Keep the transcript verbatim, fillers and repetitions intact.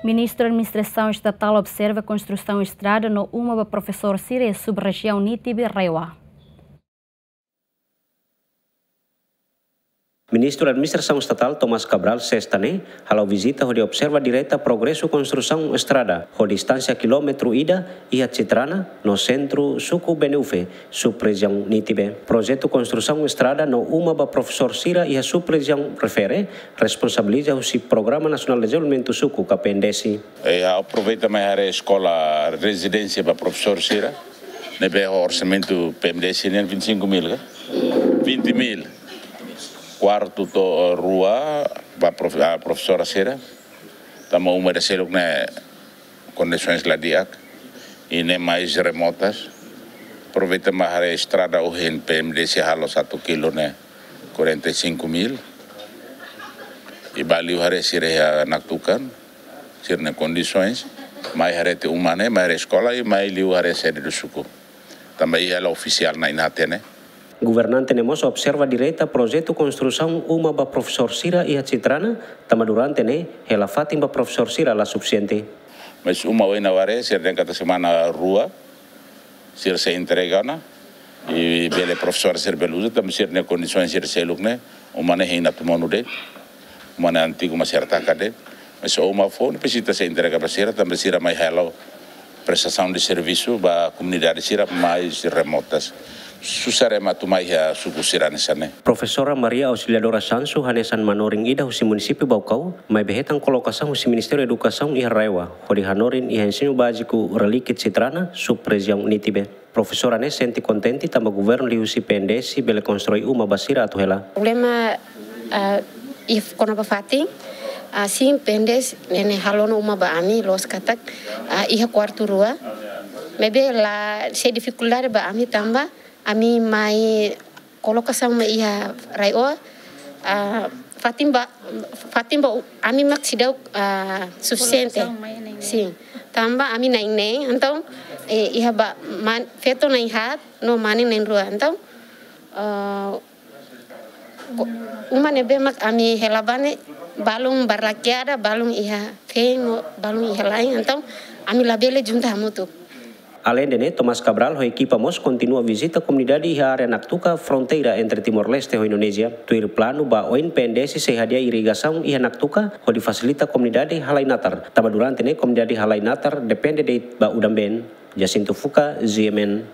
Ministru Administrasaun Estatál observa konstrusaun estrada no uma ba profesór sira iha sub-rejiaun Nitibe, RAEOA. Ministru Administrasaun Estatál Tomás Cabral, Sesta ne'e, hala'o vizita hodi observa direta progresu konstrusaun estrada ho distánsia kilómetru ida iha Citrana no sentru suku Benufe, sub-rejiaun Nitibe. Projetu konstrusaun estrada no uma ba profesór sira iha sub-rejiaun refere responsabiliza husi Programa Nasionál Dezenvolvimentu Suku ka P N D S. E aproveita mai haree eskola rezidénsia ba profesór sira, ne'ebé ho orsamentu P N D S nian vinte e cinco mil ka? Vinte mil. Kuartu to'o rua ba prof-, ah, profesora sira. Tanba uma ida seluk ne'e kondisoens la di'ak, i ne'e mais remotas. Aproveita mai haree estrada ohin P N D S halo satu kilo ne'e quarenta e cinco mil. I bá liu haree sira iha Naktuka, sira-nia kondisoens. Mai haree tiha uma ne'e, mai haree eskola, i mai liu haree sede do suku. Tanba iha hela ofisiál na'in-haat ne'e. Governante ne'e mós observa direta projetu konstrusaun uma ba profesór sira iha Citrana, tanba durante ne'e hela fatin ba profesór sira la sufisiente. Mas uma ohin ha'u haree, sira dehan katak semana rua sira sei entrega ona, i bele profesór sira bele uza, tanba sira-nia kondisoens sira seluk ne'e, uma ne'e hein atu monu de'it, uma ne'e antigu mak sira taka de'it. Mas uma foun ne'e presiza sei entrega ba sira, tanba sira mai halo prestasaun de servisu ba komunidade sira mais remotas. Susar ema atu mai iha suku sira hanesan ne'e. Profesora Maria Auxiliadora Sansu hanesan manorin ida husi munisípiu Baucau, maibé hetan kolokasaun husi Ministériu Edukasaun iha RAEOA, hodi hanorin iha ensinu báziku Relíkia Citrana, sub-rejiaun Nitibe. Profesora ne'e sente kontente tanba governu liuhusi P N D S bele konstrui uma ba sira atu hela. Problema, ah, iha kona-ba fatin, ah, sin P N D S ne'e, ne'e halo ona uma ba ami loos katak, ah, iha kuartu rua. Maibé la sei difikuldade ba ami tanba ami mai kolokasaun mai iha RAEOA, ah, fatin ba, fatin ba u-, ami mak seidauk, ah, sufisiente. Kolokasaun mai na'in-neen. Sin. Tanba ami na'in-neen, entaun, eh, iha ba man-, feto na'in-haat no mane na'in-rua. Entaun, ah, ko-, uma ne'ebé mak ami hela ba ne'e balun barlakeada, balun iha feen no balun iha la'en. Entaun, ami labele junta hamutuk. Aleinde ne'e, Tomás Cabral ho ekipa mós kontinua vizita komunidade iha área Naktuka, fronteira entre Timor-Leste ho Indonézia. Tuir planu ba oin P N D S sei hadi'a irrigasaun iha Naktuka, hodi fasilita komunidade halai natar. Tanba durante ne'e komunidade halai natar depende de'it ba udan-been. Jacinto Fuca, G M N.